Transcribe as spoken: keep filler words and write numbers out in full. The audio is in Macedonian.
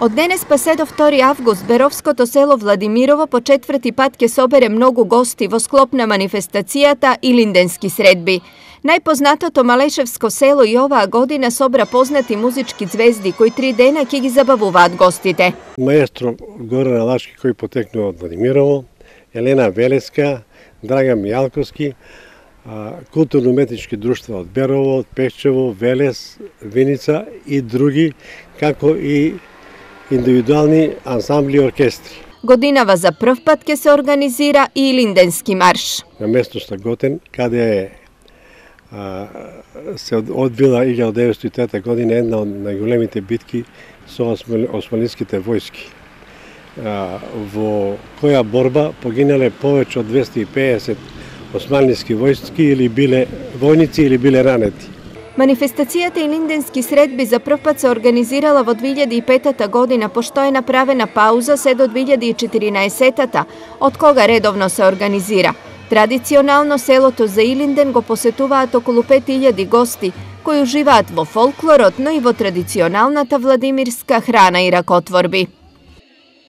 Од денес па се до втори август Беровското село Владимирово по четврти пат ќе собере многу гости во склоп на манифестацијата Илинденски средби. Најпознатото Малешевско село и оваа година собра познати музички звезди кои три дена ќе ги забавуваат гостите. Маестро Горан Алашки кој потекнува од Владимирово, Елена Велеска, Драган Мијалковски, културно-уметнички друштва од Берово, од Пешчево, Велес, Виница и други, како и индивидуални ансамбли и оркестри. Годинава за прв пат ќе се организира и Илинденски марш. На местноста Готен, каде е а, се одбила илјада деветстотини и трета година една од најголемите битки со османските војски, а, во која борба погинале повеќе од двесте и педесет османски војски или биле војници или биле ранети. Манифестацијата Илинденски средби за прв пат се организирала во две илјади и петата година, пошто е направена пауза се до две илјади и четиринаесетата, од кога редовно се организира. Традиционално селото за Илинден го посетуваат околу пет илјади гости, кои уживаат во фолклорот, но и во традиционалната владимирска храна и ракотворби.